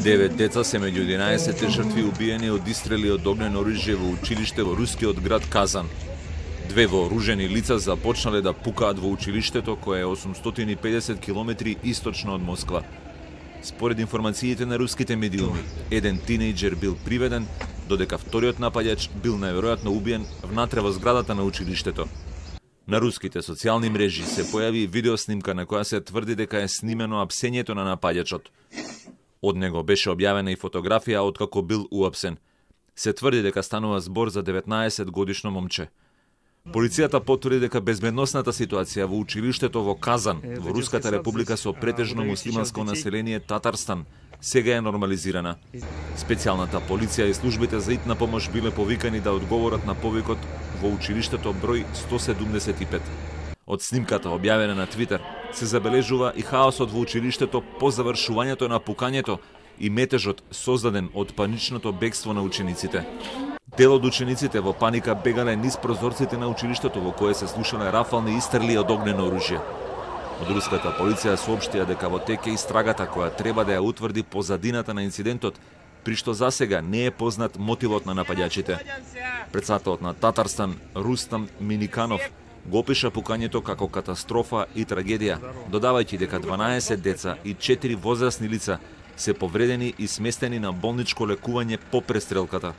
9 деца се меѓу 11 жртви убиени од истрели од огнено оружје во училиште во рускиот град Казан. Две вооружени лица започнале да пукаат во училиштето кое е 850 километри источно од Москва. Според информациите на руските медиуми, еден тинејџер бил приведен, додека вториот напаѓач бил најверојатно убиен внатре во зградата на училиштето. На руските социјални мрежи се појави видеоснимка на која се тврди дека е снимено апсењето на напаѓачот. Од него беше објавена и фотографија откако бил уапсен. Се тврди дека станува збор за 19 годишно момче. Полицијата потврди дека безбедносната ситуација во училиштето во Казан, во Руската република со претежно муслиманско население Татарстан, сега е нормализирана. Специјалната полиција и службите за итна помош биле повикани да одговорат на повикот во училиштето број 175. Од снимката објавена на Твитер се забележува и хаосот во училиштето по завршувањето на пукањето и метежот создаден од паничното бегство на учениците. Дел од учениците во паника бегале низ прозорците на училиштето во кое се слушале рафални истрели од огнено оружје. Од руската полиција соопштија дека во тек е истрагата која треба да ја утврди позадината на инцидентот, при што засега не е познат мотивот на напаѓачите. Претседателот на Татарстан Рустам Миниканов го опиша пукањето како катастрофа и трагедија, додавајќи дека 12 деца и 4 возрасни лица се повредени и сместени на болничко лекување по престрелката.